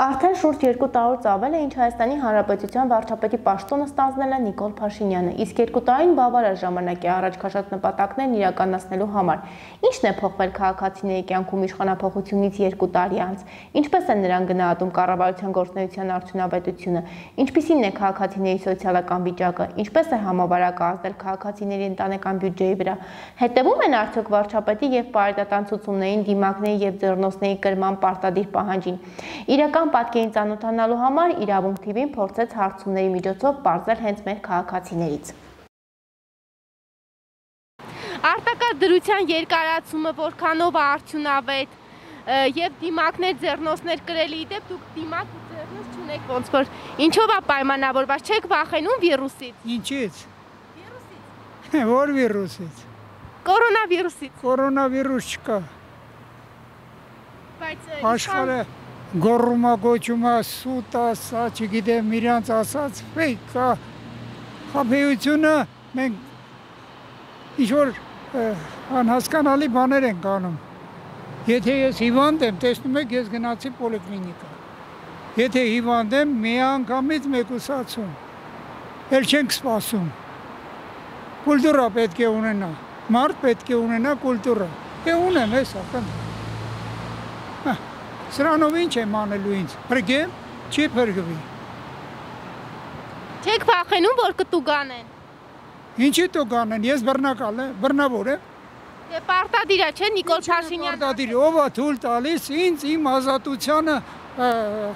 Արդեն շուրջ 2 տարուց ավել է, ինչ Հայաստանի Հանրապետության վարչապետի պաշտոնը ստանձնել է Նիկոլ Փաշինյանը, իսկ 2 տարին բավարար ժամանակ է առաջ քաշած նպատակներն իրականացնելու համար։ Ինչն է փոխվել քաղաքացիների կյանքում իշխանափոխությունից 2 տարի անց, ինչպես են նրան գնահատում կառավարության գործունեության արդյունավետությունը, ինչպիսին է քաղաքացիների սոցիալական վիճակը, ինչպես է համավարակը ազդել քաղաքացիների ընտանեկան բյուջեի վրա, հետևում են արդյոք վարչապետի եւ պարետատան ցուցումներին, դիմակների եւ ձեռնոցների կրման պարտադիր պահանջին։ Իրական պատկերին ծանոթանալու համար Իրավունք TV-ն փորձեց հարցումների միջոցով պարզել հենց մեր քաղաքացիներից։ Արտակարգ դրության երկարացումը որքանով է արդյունավետ եւ դիմակներ ձեռնոցներ կրելի դեպ դուք դիմակ ու ձեռնոց չունեք ոնց որ ինչով է պայմանավորված չեք վախենում վիրուսից։ Ինչից։ Վիրուսից։ Որ վիրուսից։ Կորոնավիրուսից։ Կորոնավիրուս չկա։ Բայց աշխարհը գոռումա գոչումա սուտ ասա, չգիտեմ իրանց ասած ֆեյք կա, խաբեությունը մենք ինչ-որ անհասկանալի բաներ ենք անում, եթե ես հիվանդ եմ, տեսնում եք ես գնացի պոլիկլինիկա, եթե հիվանդ եմ մի անգամից մեկուսացում, էլ չենք սպասում, կուլտուրա պետք է ունենա, մարդ պետք է ունենա կուլտուրա, ունեմ ես ակն Սրանով ինչ եմ անելու ինձ, պրգեմ, չի պրգվի։ Չեք վախենում, որ կտուգան են։ Ինչի տուգան են, ես բռնավոր եմ։ Դե պարտադիր է, չէ, Նիկոլ Փաշինյանը։ Պարտադիր, ով է թույլ տալիս ինձ իմ ազատությանը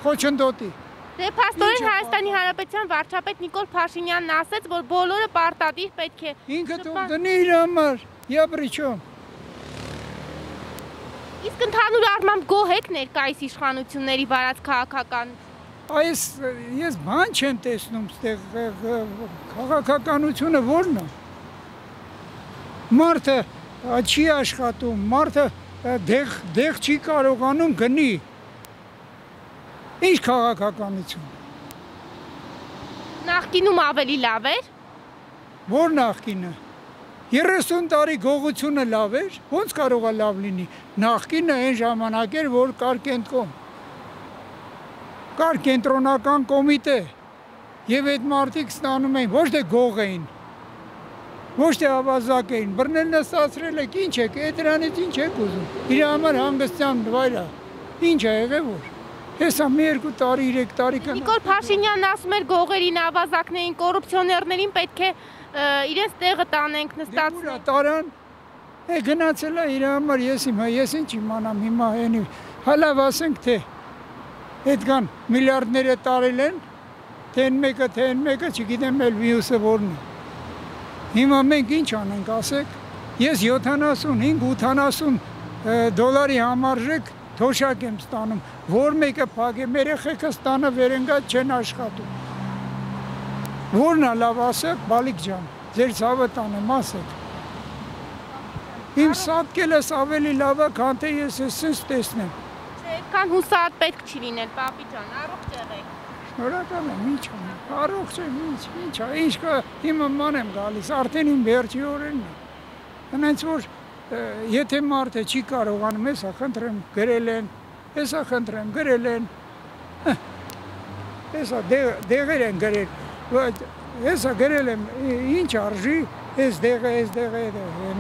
խոչընդոտի։ Դե փաստորեն Հայաստանի Հանրապետության վարչապետ Նիկոլ Փաշինյանն ասաց, որ բոլորը պարտադիր պետք է։ Ինքը թող դնի իր համար, я при чем։ Իսկ ընդհանուր առմամբ գոհ եք ներկայիս իշխանությունների վարած քաղաքականություն։ Ես բան չեմ տեսնում, քաղաքականությունը ո՞րն է։ Մարդը չի աշխատում, մարդը դեղ չի կարողանում գնի։ Ինչ քաղաքականություն։ Նախկինում ավելի լավ էր։ Ո՞ր նախկինը։ 30 տարի գողությունը լավ էր, ոնց կարող է լավ լինի, նախկինը այն ժամանակ էր, որ կար կենտրոն, կար կենտրոնական կոմիտե, և այդ մարդիկ ստանում էին, ոչ թե գող էին, ոչ թե ավազակ էին, բռնել նստացրել եք, ինչ եք, դրանից ինչ եք ուզում, իր համար հանգստյան վայր է, ինչ է եղել որ, հեսա մի 2 տարի, 3 տարի կնա։ Նիկոլ Փաշինյանն ասում էր գողերին, ավազակներին, կոռուպցիոներներին պետք է իրենց տեղը տանենք նստացնենք։ Դե տարան, գնացել է իր համար, ես ինչ իմանամ հիմա հենի, հալավ ասենք թե, հետգան միլիարդները տարել են, թե են մեկը, չգիտեմ էլ վիրուսը որն է։ Հիմա մենք ինչ անենք ասեք, ես 75-80 դոլարի համարժեք թոշակ եմ ստանում, որ մեկը փակ է, մեր երեխեքը ստանը վերընկած չեն աշխատում։ Որն է լավ ասեք, բալիկ ջան, ձեր ցավը տանեմ ասեք։ Իմ սատկելս ավելի լավ է, քան թե ես ես տեսնեմ։ Չէ, այդքան հուսահատ պետք չի լինել, պապի ջան, առողջ եղեք։ Շնորհակալ եմ, ինչ անեմ, առողջ եմ, ինչ է, ինչ կա, հիմա ման եմ գալիս, արդեն իմ վերջի օրերն է։ Հենց որ եթե մարդը չի կարողանում, հեսա խնդրեմ գրել են, հեսա խնդրեմ գրել են, հեսա դեղեր են գրել, հեսա գրել եմ, ինչ արժի, ես դեղը,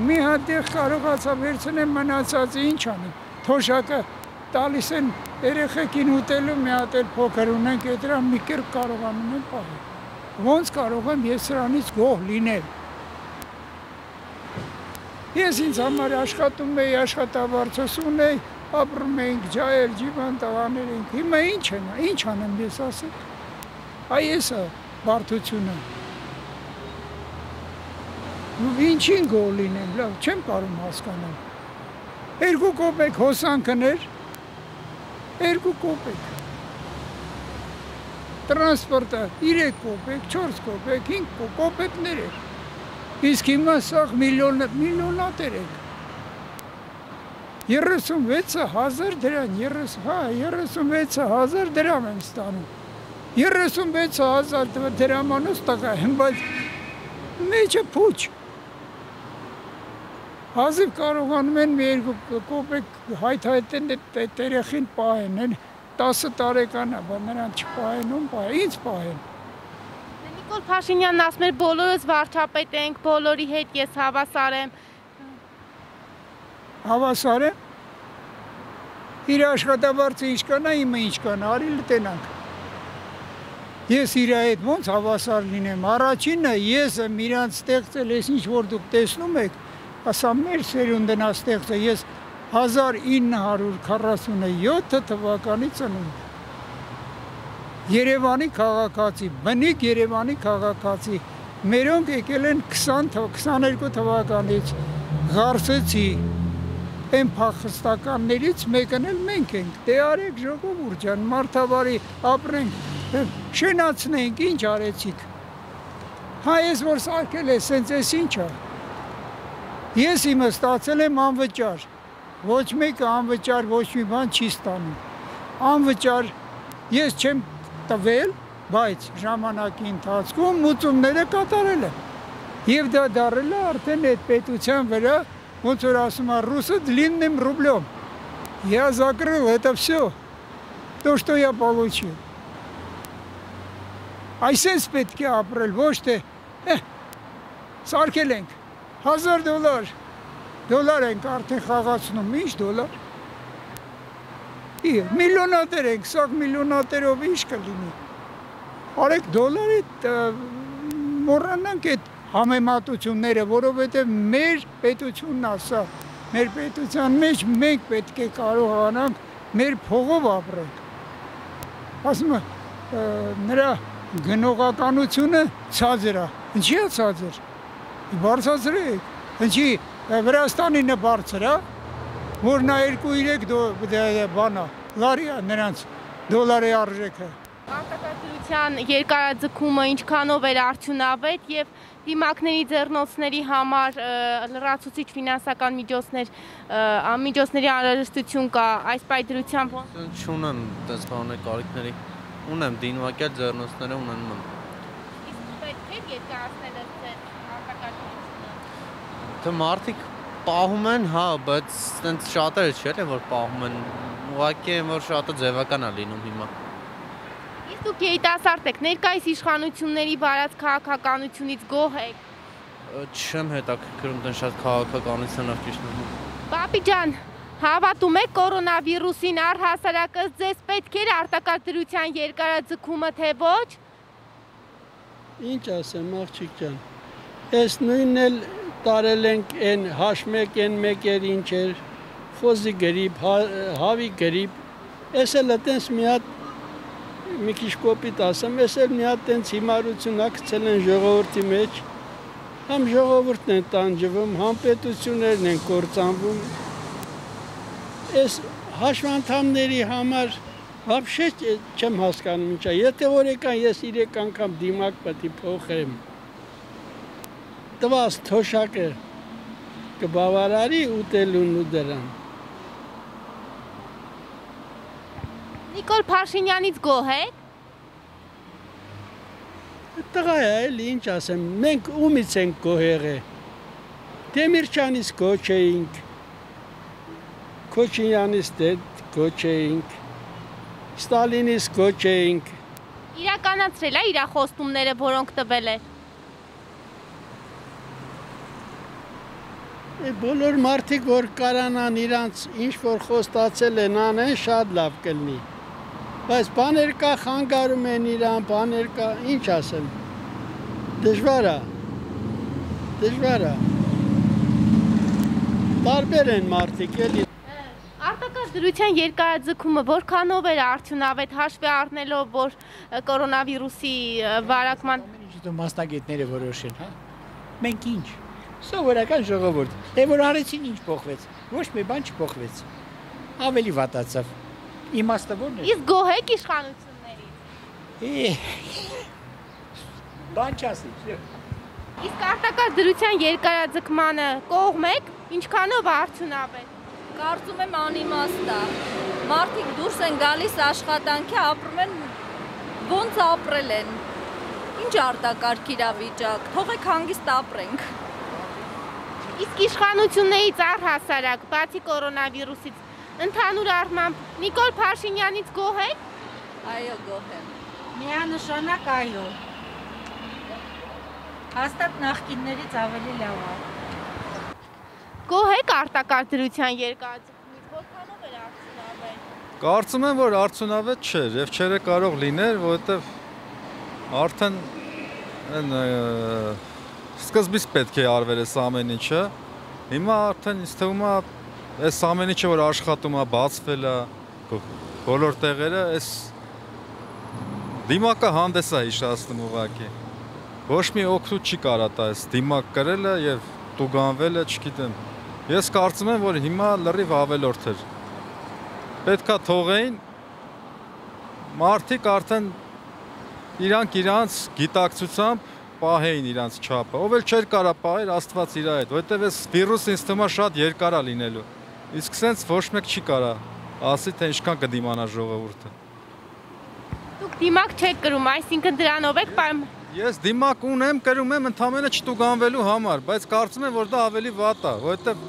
մի հատ դեղ կարողացա վերցնեմ մնացածը ինչ անեմ, թոշակը տալիս են երեխեքին ուտելու, մի հատ էլ փոքր ունենք, դրան մի կերպ կարողանում եմ պահել, ոնց կարող եմ ես սրանից գոհ լինել։ Ես ինձ համար աշխատում էի, աշխատավարձս ունեի, ապրում էինք ջայել, ջիվան տղաներ էինք, հիմա ինչ անեմ ես ասեք, այս է բարդությունը, ինչին գոհ լինեմ, լավ, չեմ կարող հասկանալ, 2 կոպեկ հոսանքն էր, 2 կոպեկ, տրանսպորտը 3 կոպեկ, 4 կոպեկ, 5 կոպեկներ էր, իսկ հիմա սաղ միլիոնատեր եք, 36,000 դրամ, 36,000 դրամ եմ ստանում, 36,000 դրամանոց տղա եմ, բայց մեջը փուչ, հազիվ կարողանում են մի 2 կոպեկ հայթայթեն երեխին պահեն, 10 տարեկան է, բայց նրան չպահեն, ում պահեն, ինձ պահեն։ Նիկոլ Փաշինյանն ասում էր բոլորս վարչապետ ենք, բոլորի հետ ես հավասար եմ։ Հավասար եմ։ Իր աշխատավարձը ինչ կանա, իմը ինչ կանա, արի լտենանք։ Ես իր հետ ոնց հավասար լինեմ, առաջինը ես եմ իրանց ստեղծել, ես ինչ որ դուք տեսնում եք, ասա մեր սերունդն է ստեղծել, ես 1947 թվականի ծնունդ։ Երևանի քաղաքացի, բնիկ Երևանի քաղաքացի, մերոնք եկել են 22 թվականից, Ղարսեցի, այն փախստականներից մեկն էլ մենք ենք, դե արեք ժողովուրդ ջան, մարդավարի ապրենք, շենացնենք, ինչ արեցիք։ Հա ես որ սարքել է, սենց ես ինչ է։ Ես իմը ստացել եմ անվճար, ոչ մեկը անվճար ոչ մի բան չի ստանում։ Անվճար ես չեմ տվել, բայց ժամանակի ընթացքում մուծումները կատարել եմ։ Եվ դա դարել է արդեն այդ պետության վրա, ոնց որ ասում է ռուսը длинным рублем. Я закрыл это все, то, что я получил. Այսպես պետք է ապրել, ոչ թե սարքել ենք $1000, դոլար ենք արդեն խաղացնում, ինչ դոլար։ Միլիոնատեր ենք, սաղ միլիոնատերով ինչ կլինի։ Արեք դոլարի մոռանանք այդ համեմատությունները, որովհետև մեր պետությունն ասա, մեր պետության մեջ մենք պետք է կարողանանք մեր փողով ապրենք։ Ասում է նրա գնողականությունը ցածր է։ Ինչի է ցածր։ Բարձրացրեք։ Ինչի Վրաստանինը բարձր է, որ նա 2-3 բանա, լարի է նրանց դոլարի արժեքը։ Արտակարգության երկարաձգումը ինչքանով էր արդյունավետ եւ դիմակների ձեռնոցների համար լրացուցիչ ֆինանսական միջոցների անհրաժեշտություն կա այս պայծրությամբ ոնց։ Չունեն դες բաներ կարիքների, ունեմ դինվակյալ ձեռնոցները ունեն ման։ Իսկ պետք է երկարացնել այս արտակարգությունը։ Թե մարդիկ պահում են, հա, բայց այդպես շատերը չէ՞ որ պահում են, ուղղակի են որ շատը ձևական է լինում հիմա։ Իսկ դուք երիտասարդ եք, ներկայիս իշխանությունների վարած քաղաքականությունից գոհ եք։ Չեմ հետաքրքրում դեն շատ քաղաքականությունով ճիշտ եմ։ Պապի ջան, հավատում եք կորոնավիրուսին առհասարակս ձեզ պետք էր արտակարգության երկարաձգումը, թե ոչ։ Ինչ ասեմ, աղջիկ ջան, այս նույնն էլ տարել ենք են H1N1 ինչ էր, խոզի գրիպ, հավի գրիպ, ես էլ այդպես մի հատ մի քիչ կոպիտ ասեմ, ես էլ մի հատ տենց հիմարություն ակցել են ժողովրդի մեջ, համ ժողովուրդն են տանջվում, համ պետություններն են կործանվում, ես հաշվանդամների համար вообще չեմ հասկանում ինչա, եթե օրեկան ես 3 անգամ դիմակ պետք է փոխեմ, տված թոշակը կբավարարի ուտելուն ու դրան։ Նիկոլ Փաշինյանից գոհ եք։ Տղա է, էլի ինչ ասեմ, մենք ումից ենք գոհ եղել։ Դեմիրճյանից գոհ չէինք, Քոչինյանից գոհ չէինք, Ստալինից գոհ չէինք։ Իրականացրել է իր խոստումները, որոնք տվել է։ Բոլոր մարդիկ, որ կարանան իրանց ինչ-որ խոստացել են անեն, շատ լավ կլինի։ Բայց բաներ կա, խանգարում են իրան, բաներ կա, ինչ ասեմ, դժվար է, տարբեր են մարդիկ, էլի։ Արտակարգության երկարաձգումը որքանով էր արդյունավետ հաշվի առնելով, որ կորոնավիրուսի վարակման մասնագետները որոշեն, հա։ Մենք ինչ։ Սովորական ժողովուրդ, դե որ արեցին ինչ փոխվեց, ոչ մի բան չփոխվեց, ավելի վատացավ, իմաստը ո՞րն է։ Իսկ գոհ եք իշխանություններից։ Բան չասի։ Իսկ արտակարգության երկարաձգմանը կողմ եք, ինչքանով արդյունավետ։ Կարծում եմ անիմաստ է, մարդիկ դուրս են գալիս աշխատանքի, ապրում են, ոնց ապրել են, ինչ արտակարգ իրավիճակ, թողեք հանգիստ ապրենք։ Իսկ իշխանություններից առհասարակ, բացի կորոնավիրուսից, Ընդհանուր առմամբ Նիկոլ Փաշինյանից գոհ եք։ Այո, գոհ եմ։ Միանշանակ այո։ Հաստատ նախկիններից ավելի լավ է։ Գոհ եք արտակարգ դրության երկարաձգումից, որքանով էր արդյունավետ։ Կարծում եմ, որ արդյունավետ չէր եւ չէր կարող լիներ, որովհետեւ արդեն սկզբից պետք է արվեր այս ամեն ինչը։ Հիմա արդեն ինձ թվում է այս ամեն ինչը որ աշխատում է, բացվել է բոլոր տեղերը, այս դիմակը հանդես է հիշացնում ուղղակի։ Ոչ մի օգուտ չի կարա տա այս դիմակ կրելը եւ տուգանվելը, չգիտեմ։ Ես կարծում եմ, որ հիմա լրիվ ավելորդ էր։ Պետքա թողեին մարդիկ արդեն իրանց գիտակցությամբ պահեին իրանց չափը։ Ով էլ չէր կարա պահեր Աստված իր հետ, որովհետև այս վիրուսը ինձ թվում է շատ երկար է լինելու։ Իսկ սենց ոչ մեկ չի կարա ասի, թե ինչքան կդիմանա ժողովուրդը։ Դուք դիմակ չեք կրում, այսինքն դրանով եք պայման։ Ես դիմակ ունեմ, կրում եմ ընդամենը չտուգանվելու համար, բայց կարծում եմ, որ դա ավելի վատ է, որովհետև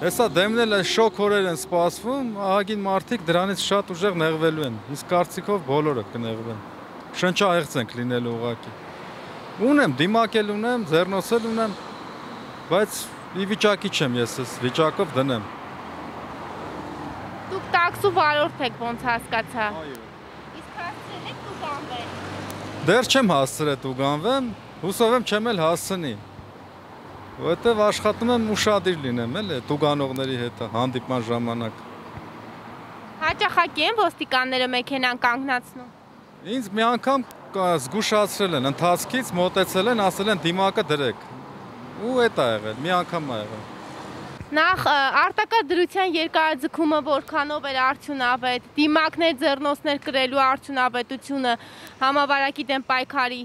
հեսա դեմնել այս շոկ օրեր են սպասվում, ահագին մարդիկ դրանից շատ ուժեղ նեղվելու են։ Իսկ կարծիքով բոլորը կնեղվեն։ Շնչահեղձ ենք լինելու ուղղակի։ Ունեմ, դիմակել ունեմ, ձեռնոցել ունեմ, բայց ի վիճակի չեմ ես այս վիճակով դնեմ։ Դուք տաքսու վարորդ եք, ոնց հասկացա։ Այո։ Իսկ հասցրել եք տուգանվել։ Դեռ չեմ հասցրել տուգանվեմ, հուսով եմ չեմ էլ հասցնի։ Որովհետև աշխատում եմ ուշադիր լինեմ, էլ տուգանողների հետ հանդիպման ժամանակ։ Հաճախակի են ոստիկանները մեքենան կանգնացնում։ Ինձ մի անգամ զգուշացրել են, ընթացքից մոտեցել են, ասել են դիմակը դրեք։ Ու էդ է եղել, մի անգամ է եղել։ Նախ արտակարգ դրության երկարաձգումը որքանով էր արդյունավետ, դիմակներ, ձեռնոցներ կրելու արդյունավետությունը համավարակի դեմ պայքարի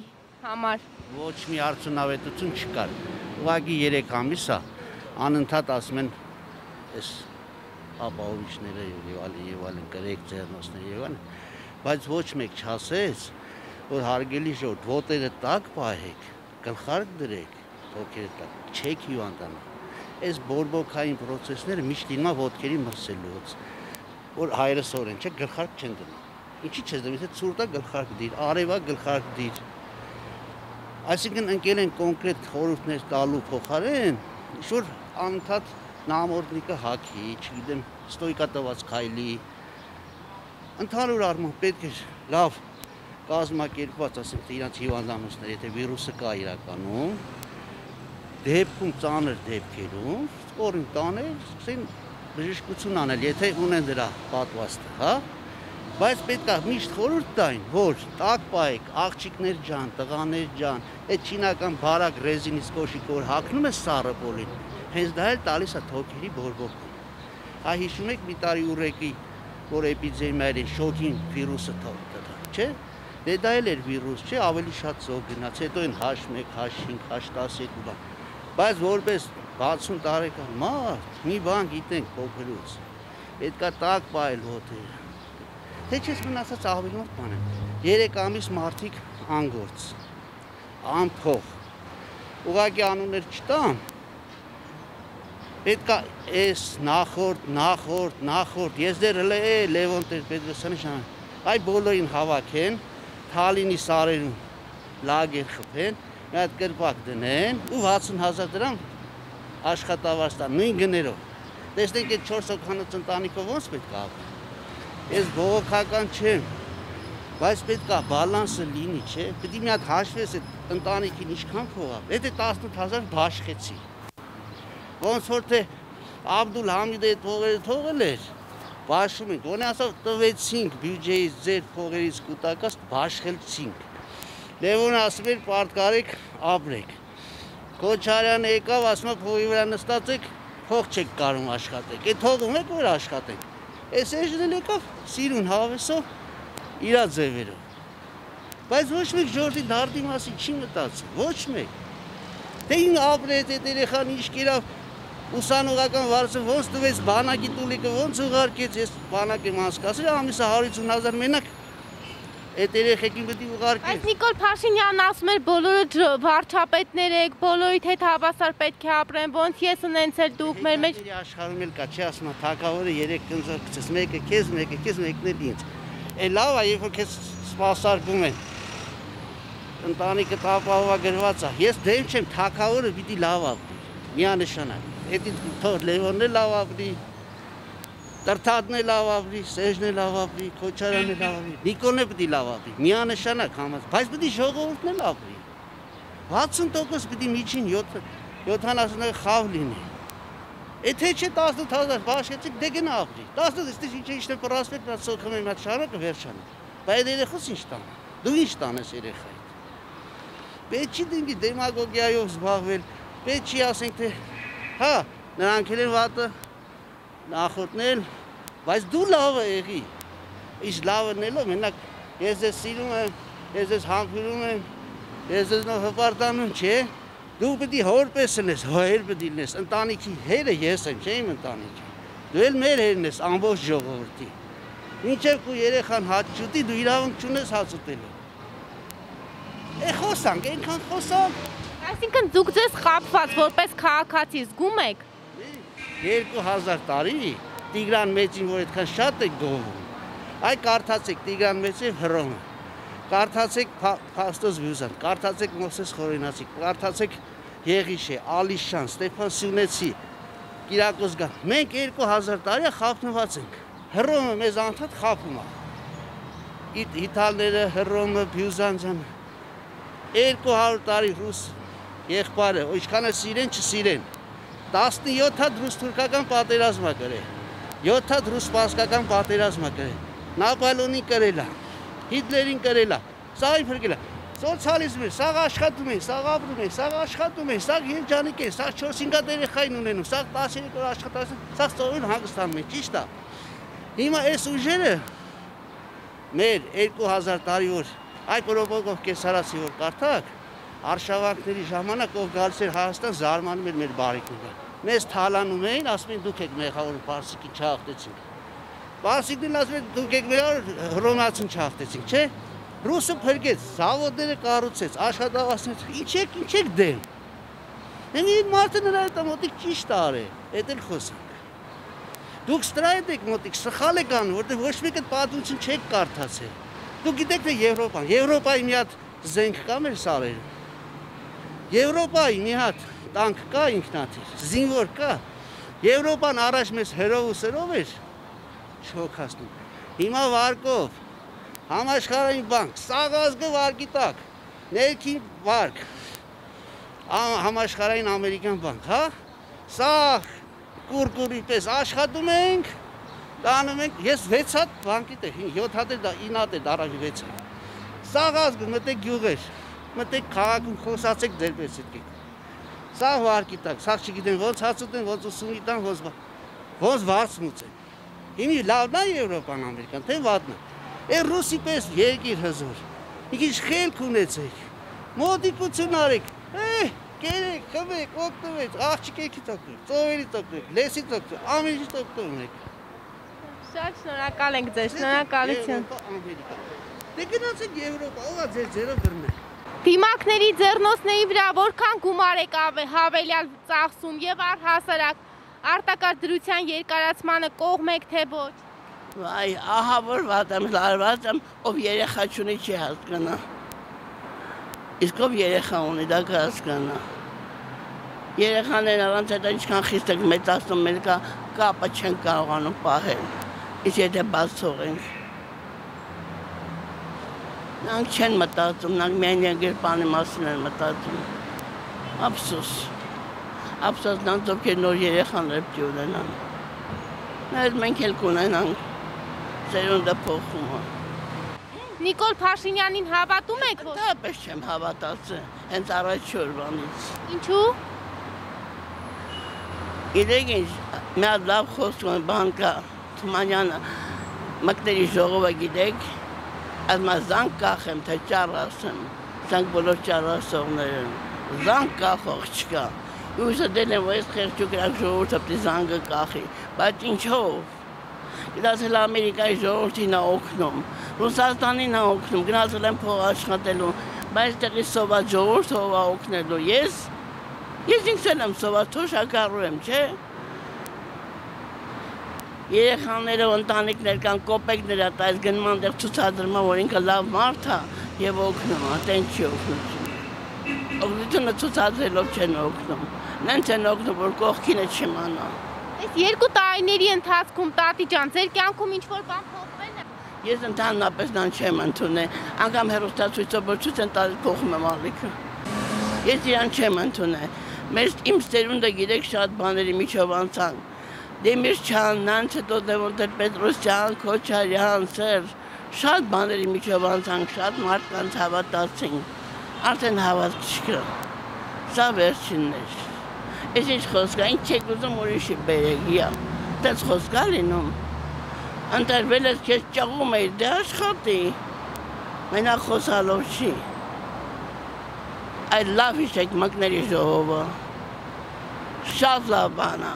համար։ Ոչ մի արդյունավետություն չկար։ Ուղղակի 3 ամիս է, անընդհատ ասում են այս ապահովիչները եւ այլն կրեք ձեռնոցներ եւ այլն, բայց ոչ մեկ չասեց, որ հարգելի ժողովուրդ, ոտերը տակ պահեք, գլխարկ դրեք, թոքերը տակ, չեք հիվանդանա։ Այս բորբոքային process-ները միշտ լինում է ոտքերի մրսելուց, որ հայրս օրեն չէ, գլխարկ չեն դնում։ Ինչի՞ չես դնում, եթե ցուրտ է գլխարկ դիր, արևա գլխարկ դիր։ Այսինքն ընկել են կոնկրետ խորհուրդներ տալու փոխարեն, ինչ-որ անընդհատ նամորդնիկը հագի, չգիտեմ, ստոյկա տված քայլի։ Ընդհանուր առմամբ պետք է լավ կազմակերպված, ասենք, իրանց հիվանդանոցներ, եթե վիրուսը կա իրականում, դեպքում ծանր դեպքերում, ստորին տանել, սկսեն բժշկություն անել, եթե ունեն դրա պատվաստը, հա? Բայց պետք է միշտ խորհուրդ տային, որ տակ պահեք, աղջիկներ ջան, տղաներ ջան, այդ չինական բարակ ռեզինից կոշիկը, որ հագնում է սառը պոլին, հենց դա էլ տալիս է թոքերի բորբոքում։ Այ հիշում եք մի տարի ուրեկի, որ էպիդեմիա էր, շոկին վիրուսը թողա, չէ՞։ Դե դա էլ էր վիրուս, չէ, ավելի շատ զոհ գնաց, հետո են H1, H5, H12 բան։ Բայց որպես 60 տարեկան մարդ, մի բան գիտենք փոքրուց, պետք է տակ պահել ոտերը։ Թե չես մնացած ավելի մոտ բան են։ 3 ամիս մարդիկ անգործ, անփող, ուղղակի անուններ չտամ, պետք է այս նախորդ, ես դեռ Լևոն Տեր-Պետրոսյանի ժամանակ, այ բոլորին հավաքեն, Թալինի սարերում լագեր խփեն, մի հատ կրպակ դնեն ու 60,000 դրամ աշխատավարձ տան, նույն գներով։ Տեսնենք այդ 4 հոգանոց ընտանիքով ոնց պետք է ապրի։ Ես բողոքական չեմ, բայց պետք է բալանսը լինի, չէ։ Պետք է մի հատ հաշվես այդ ընտանիքին ինչքան փող է։ Եթե 18,000 բաշխեցի։ Ոնց որ թե Աբդուլ Համիդը այդ փողերը թողել էր, բաշխում ենք, ոնց ասավ տվեցինք բյուջեից ձեր փողերից կուտակած բաշխեցինք։ Լևոնը ասում էր պարտկարեք, ապրեք։ Քոչարյանը եկավ, ասում է փողի վրա նստած եք, փող չեք կարող աշխատեք։ Այդ թողում եք որ աշխատեք։ Այս էջն եկավ սիրուն հավեսով իրա ձևերով։ Բայց ոչ մեկ ժողովրդի դարդի մասին չի մտածում, ոչ մեկ։ Թե ին ապրեց այդ երեխան ինչ կերավ ուսանողական վարձը ոնց տվեց բանակի տուլիկը ոնց ուղարկեց, ես բանակ եմ անցկացրել, ամիսը 150,000 մենակ Այդ երեխեքին պետք է ուղարկի։ Բայց Նիկոլ Փաշինյանն ասում էր բոլորը վարչապետներ եք, բոլորիդ հետ հավասար պետք է ապրեն, ոնց ես ունեցել դուք մեր մեջ աշխարհում էլ կա, չի ասում թակավորը 3 կնձոր գցես, մեկը քեզ, մեկն էլ ինձ։ Է լավ է, երբ որ քեզ սպասարկում են։ Ընտանիքը տապահովա գրված է։ Ես դեմ չեմ, թակավորը պիտի լավ ապրի։ Միանշանակ։ Էդի թող Լևոնն էլ լավ ապրի։ Տրթատն է լավ ապրի, Սերժն է լավ ապրի, Քոչարյանն է լավ ապրի, Նիկոլն է պիտի լավ ապրի, միանշանակ համաձայն, բայց պիտի ժողովուրդն էլ ապրի։ 60% պիտի միջին 70 խավ լինի։ Եթե չէ 18000 բաշխեցիք, դե գնա ապրի։ 10-ից ինչ է պրասպեկտ, նա սոխում է մատ շարակը վերջանը։ Բայց երեխաս ինչ տան։ Դու ինչ տանես երեխային։ Պետք չի դինգի դեմագոգիայով զբաղվել, պետք չի ասենք թե հա, նրանք են վատը նախորդնել, բայց դու լավը եղի, իշ լավն ելով, մենակ ես ես սիրում եմ, ես ես համբուրում եմ, ես ես նով հպարտանում, չէ, դու պտի հոր պես լես, հոր պտի լես, ընտանիքի հերը ես եմ, չէ իմ ընտանիքի, դու էլ մեր հերն ես, ամբողջ ժողովրդի, մինչև կու երեխան հաց չուտի, դու իրավունք չունես հաց ուտելու, խոսանք, ենքան խոսանք, այսինքն դուք ձեզ խապված, որպես քաղաքացի զգում եք 2000 տարի Տիգրան Մեծին, որ այդքան շատ եք գովում, այ կարդացեք Տիգրան Մեծի Հռոմը, կարդացեք Փաստոս Վյուզան, կարդացեք Մովսես Խորենացի, կարդացեք Եղիշե, Ալիշան, Ստեփան Սյունեցի, Կիրակոս Գան, մենք 2000 տարի խափնված ենք, Հռոմը մեզ անդադ խափում է, Իտալները, Հռոմը, Վյուզան, 200 տարի ռուս եղբայրը, ինչքանը սիրեն, չսիրեն, 17 հատ ռուս-թուրքական պատերազմ է գրել, 7 հատ ռուս-սպարսկական պատերազմ է գրել, Նապոլեոնին կրել է, Հիտլերին կրել է, սա այն փրկել է, սոցիալիզմ է, սա աշխատում են, սա ապրում են, սա աշխատում են, սա երջանիկ են, սա 4-5 հատ երեխային ունենում, սա 13 օր աշխատում, սա ծովին հանգստանում են, ճիշտ է։ Հիմա այս ուժերը մեր 2000 տարի որ այ պրոպոգով կեսարացի որ կարդակ, արշավանքների ժամանակ ով գալիս էր Հայաստան զարմանում էր մեր բարիկները։ Մեզ թալանում էին, ասում են դուք եք մեղավոր պարսիկին չհաղթեցինք։ Պարսիկներն ասում են դուք եք մեղավոր հռոմեացին չհաղթեցինք, չէ՞։ Ռուսը փրկեց, զավոդները կառուցեց, աշխատավարձներ, ինչ եք դեմ։ Հենց այդ մարդը նրա հետ մոտիկ ճիշտ արել, այդ էլ խոսանք։ Դուք ստրայդ եք մոտիկ, սխալ եք անում, որտեղ ոչ մեկը պատմություն չեք կարդացել։ Դուք գիտեք թե Եվրոպայի մի հատ զենք կա մեր սարերը։ Եվրոպայի մի հատ տանկ կա ինքնաթիռ, զինվոր կա։ Եվրոպան առաջ մեզ հերով ու սերով էր շոքացնում։ Հիմա վարկով, համաշխարհային բանկ, սաղազգը վարկի տակ, ներքին վարկ, համաշխարհային ամերիկյան բանկ, հա։ Սա կուրկուրի պես աշխատում ենք, տանում ենք, ես 6 հատ բանկի տեղ, 7 հատ է 9 հատ է դարավի 6 հատ։ Սաղազգը մտեք գյուղեր, մտեք քաղաքում խոսացեք ձեր պես ետքեք։ Սա վարկի տակ, սա չգիտեն ոնց հաց ուտեն, ոնց ուսումի տան, ոնց վարձ մուծեն։ Հիմի լավն է Եվրոպան Ամերիկան, թե վատն է։ Է ռուսի պես երկիր հզոր, մի քիչ խելք ունեցեք, մոտիկություն արեք, կերեք, խմեք, օգտվեք, աղջիկեքից օգտվեք, ծովերից օգտվեք, լեսից օգտվեք, ամեն ինչից օգտվեք։ Շատ շնորհակալ ենք ձեզ, շնորհակալություն։ Դե գնացեք Եվրոպա, ով է ձեր ձեռը բռնել։ Դիմակների ձեռնոցների վրա որքան գումար եք հավելյալ ծախսում եւ առհասարակ արտակարգ դրության երկարացմանը կողմ եք թե ոչ։ Վայ, ահա որ վատ եմ, լարված եմ, ով երեխա չունի չի հասկանա։ Իսկ ով երեխա ունի, դա կհասկանա։ Երեխաներն առանց այդ ինչքան խիստ եք մեծացնում, մեր կապը չեն կարողանում պահել։ Իսկ եթե բաց թողենք։ Նրանք չեն մտածում, նրանք միայն երկրպանի մասին են մտածում։ Ափսոս։ Ափսոս նրանց ովքեր նոր երեխաներ պետք է ունենան։ Մենք էլ կունենանք։ Սերունդը փոխում է։ Նիկոլ Փաշինյանին հավատում եք ոչ։ Դապես չեմ հավատացել, հենց առաջ օրվանից։ Ինչու։ Գիտեք ինչ, մի հատ լավ խոսում բան կա, Թումանյանը մկների ժողովը գիտեք, ասում է զանգ կախեմ, թե ճառ ասեմ, զանգ բոլոր ճառասողներ են, զանգ կախող չկա։ Ուզը դեն եմ, որ ես խեղճուկ իրակ ժողորդը պտի զանգը կախի, բայց ինչով, Գնացել Ամերիկայի ժողովրդին է օգնում, Ռուսաստանին է օգնում, գնացել են փող աշխատելու, բայց տեղի սոված ժողովուրդը ով է օգնելու, ես ինքս եմ սոված, թոշակառու եմ, չէ՞։ Երեխաները ընտանիքներ կան, կոպեկներ է, այս գնում այնտեղ ցուցադրում, որ ինքը լավ մարդ է եւ օգնում է, տեն չի օգնություն։ Օգնությունը ցուցադրելով չեն օգնում։ Նենց են օգնում, որ կողքինը չիմանա։ Այս 2 տարիների ընթացքում տատի ջան, ձեր կյանքում ինչ-որ բան փոխվել է։ Ես ընդհանրապես նան չեմ ընդունել, անգամ հեռուստացույցով որ ցույց են տալիս փոխում եմ ալիքը։ Ես իրան չեմ ընդունել։ Մեր իմ ծերունդը գիտեք շատ բաների միջով անցան։ Դեմիրճան, նանց հետո Լևոն Պետրոսյան, Քոչարյան, Սերժ, շատ բաների միջով անցանք, շատ մարդկանց հավատացինք, արդեն հավատք չկա, սա վերջինն էր, ես ինչ խոսք է, ինչ չեք ուզում ուրիշի բերեք, տենց խոսք է լինում, ընտրվել ես քեզ ճաղում էիր, դե աշխատի, մենակ խոսալով չի, այդ լավ հիշեք մկների ժողովը, շատ լավ բան է,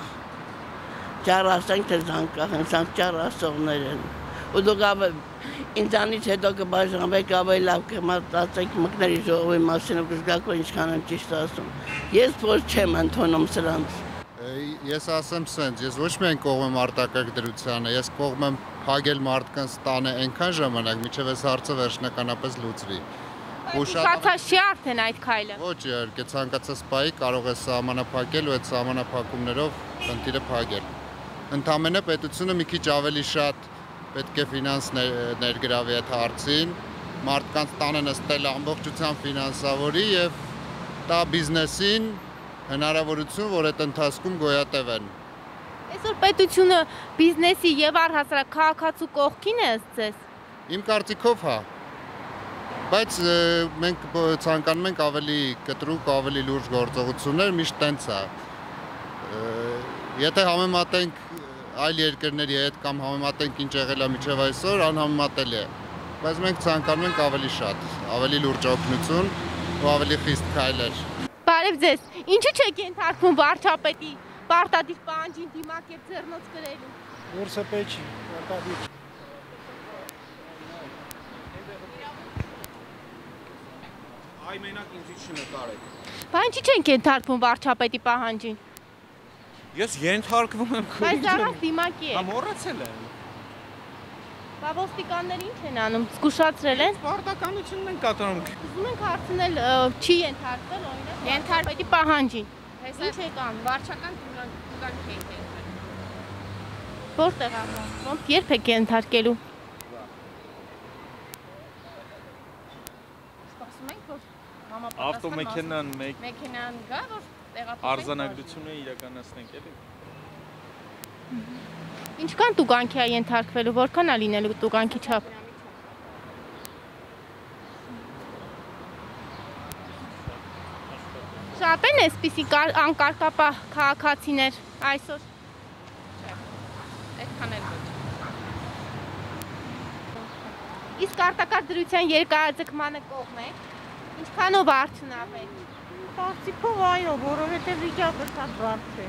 ճարասենք թե զանկախ են, սանք ճարասողներ են, ու դուք ինձանից հետո կբաժանվեք ավելի լավ կմտածեք մկների ժողովի մասին ու կզգաք, որ ինչքան եմ ճիշտ ասում։ Ես փոս չեմ ընդունում սրանց։ Ես ասեմ սենց, ես ոչ միայն կողմ եմ արտակարգ դրությանը, ես կողմ եմ փակել մարդկանց տանը այնքան ժամանակ, մինչև այս հարցը վերջնականապես լուծվի։ Ուշացած չի արդեն այդ քայլը։ Ոչ, իհարկե, ցանկացած պահի կարող է սահմանափակել ու այդ սահմանափակումներով խնդիրը փակել։ Ընդամենը պետությունը մի քիչ ավելի շատ պետք է ֆինանս ներգրավի այդ հարցին, մարդկանց տանը նստել ամբողջությամբ ֆինանսավորի եւ տա բիզնեսին հնարավորություն, որ այդ ընթացքում գոյատևեն։ Այսօր պետությունը բիզնեսի եւ առհասարակ քաղաքացու կողքին է ըստ։ Իմ կարծիքով հա։ Բայց մենք ցանկանում ենք ավելի կտրուկ, ավելի լուրջ գործողություններ, միշտ տենց է։ Եթե համեմատենք այլ երկրների հետ կամ համեմատենք ինչ եղել է մինչև այսօր, անհամեմատելի է։ Բայց մենք ցանկանում ենք ավելի շատ, ավելի լուրջ օգնություն ու ավելի խիստ քայլեր։ Բարև ձեզ։ Ինչու չեք ենթարկվում վարչապետի պարտադիր պահանջին դիմակ եւ ձեռնոց գրելու։ Որսը պեչի, պարտադիր։ Այ մենակ ինձ չնկարեք։ Բայց ինչի չենք ենթարկվում վարչապետի պահանջին։ Ես ենթարկվում եմ քույր։ Բայց առանց դիմակի է։ Հա մոռացել եմ։ Բա ոստիկանները ինչ են անում, զգուշացրել են։ Պարտականությունն են կատարում։ Ուզում ենք հարցնել, չի ենթարկվել օրինակ ենթարկվետի պահանջին։ Ինչ եք անում։ Վարչական տուգանք եք ենթարկել։ Որտեղ է։ Ոնց երբ եք ենթարկելու։ Սպասում ենք, որ ավտոմեքենան մեքենան գա, որ տեղափոխենք։ Արձանագրությունը իրականացնենք էլի։ Ինչքան տուգանքի է ենթարկվելու, որքան է լինելու տուգանքի չափ։ Շատ են այսպիսի անկարգապահ քաղաքացիներ այսօր։ Այդքան էլ ոչ։ Իսկ արտակարգ դրության երկարաձգմանը կողմ եք։ Ինչքանով արդյունավետ։ Կարծիքով այո, որովհետև վիճակը շատ բարդ է։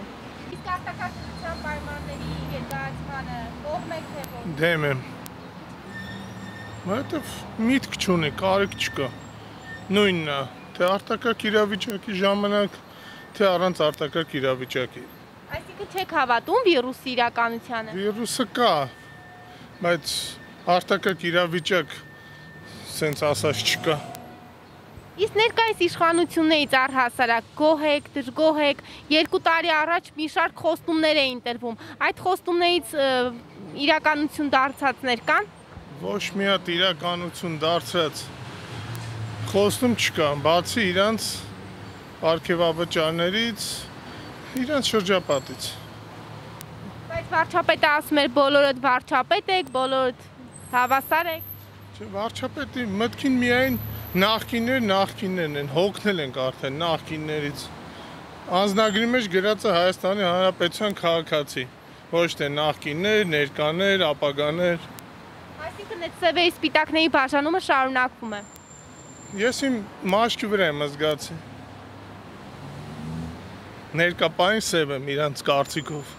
Իսկ արտակարգ դրության պայմանների երկարաձգմանը կողմ եք թե ոչ։ Դեմ եմ։ Որովհետև միտք չունի, կարիք չկա։ Նույնն է, թե արտակարգ իրավիճակի ժամանակ, թե առանց արտակարգ իրավիճակի։ Այսինքն չեք հավատում վիրուսի իրականությանը։ Վիրուսը կա, բայց արտակարգ իրավիճակ սենց ասած չկա։ Իսկ ներկայիս իշխանություններից առհասարակ գոհ եք, դժգոհ եք, 2 տարի առաջ մի շարք խոստումներ էին տրվում։ Այդ խոստումներից իրականություն դարձածներ կան։ Ոչ մի հատ իրականություն դարձած խոստում չկա, բացի իրանց պարգևավճարներից, իրանց շրջապատից։ Բայց վարչապետը ասում էր բոլորդ վարչապետ եք, բոլորդ հավասար եք։ Չէ, վարչապետի մտքին միայն նախկիններն են, հոգնել ենք արդեն նախկիններից։ Անձնագրի մեջ գրած է Հայաստանի Հանրապետության քաղաքացի, ոչ թե նախկիններ, ներկաներ, ապագաներ։ Այսինքն այդ սևերի սպիտակների բաժանումը շարունակվում է։ Ես իմ մաշկի վրա եմ զգացի։ Ներկապային սև եմ իրանց կարծիքով։